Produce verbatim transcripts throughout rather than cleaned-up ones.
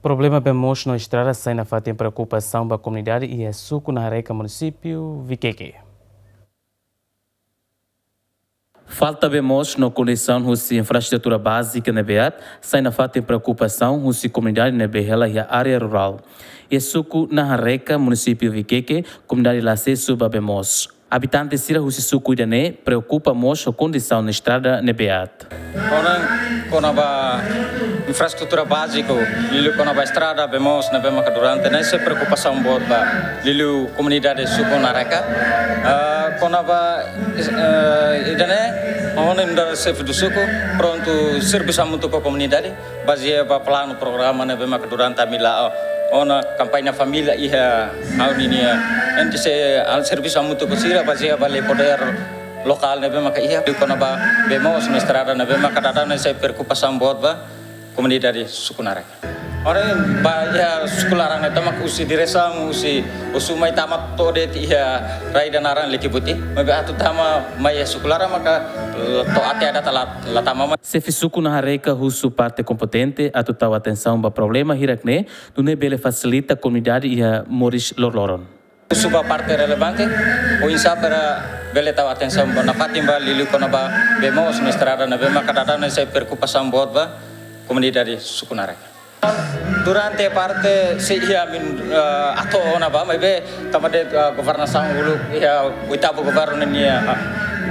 Problema bee moos no estrada sai nafatin preokupasaun ba komunidade iha suku Nahareka, munisípiu Vikeke. Falta bee moos no kondisaun husi infraestrutura bázika ne'ebé aat sai nafatin preokupasaun husi komunidade ne'ebé hela iha área rurál. Iha suku Nahareka, munisípiu Vikeke, komunidade la asesu ba bee moos. Abitante sira husi suku ida-ne'e preokupa mós ho kondisaun estrada ne'ebé aat. Ona kona-ba infraestrutura báziku, liuliu kona-ba estrada, bee moos ne'ebé maka durante ne'e sai preokupasaun boot ba liuliu komunidade suku Nahareka. Ah, kona-ba, eh, ida-ne'e, ona nu'udar xefe do suku, prontu servisu hamutuk ho komunidade, bazeia ba planu programa ne'ebé maka durante ami la'o ona kampaña família iha ha'u ninia. Entaun sei servisu hamutuk ho sira bazeia ba lei podér lokál ne'ebé maka iha. Liuliu kona-ba bee moos no estrada ne'ebé maka daudaun ne'e sai preokupasaun boot ba komunidade suku Nahareka. Ora ba iha suku laran ne'e tama husi diresaun husi Osu mai tama to'o de'it iha rai ida naran Likibuti. Maibé atu tama mai iha suku laran maka to'o até agora la, la tama mai. Xefe suku Nahareka husu parte kompetente atu tau atensaun ba problema hirak-ne'e, nune'e bele fasilita komunidade iha moris loroloron. Husu ba parte relevante, oinsá para bele tau atensaun ba nafatin ba liuliu kona-ba bee moos no estrada ne'ebé maka daudaun ne'e sai preokupasaun boot ba komunidade suku Nahareka. Durante parte sei iha ami, eh, atu ona ba, maibé tanba de'it, eh, governasaun uluk iha oitavu governu nian, eh,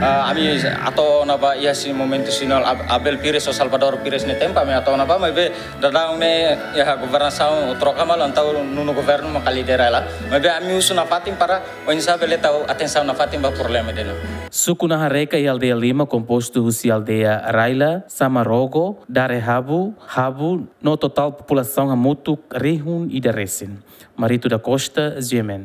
eh, ami atu ona ba iha husi momentu sira Ab-, Abel Pires ho Salvador Pires nia tempu ami atu ona ba, maibé daudaun ne'e iha governasaun troka malu entaun nonu governu maka lidera hela. Maibé ami husu nafatin para oinsá bele tau atensaun nafatin ba problema ida-ne'e. Suku Nahareka iha aldeia lima kompostu husi aldeia Raila, Samarogo, Darehabu, Habu, no totál populasaun hamutuk rihun ida resin. Marito da Costa, G M N.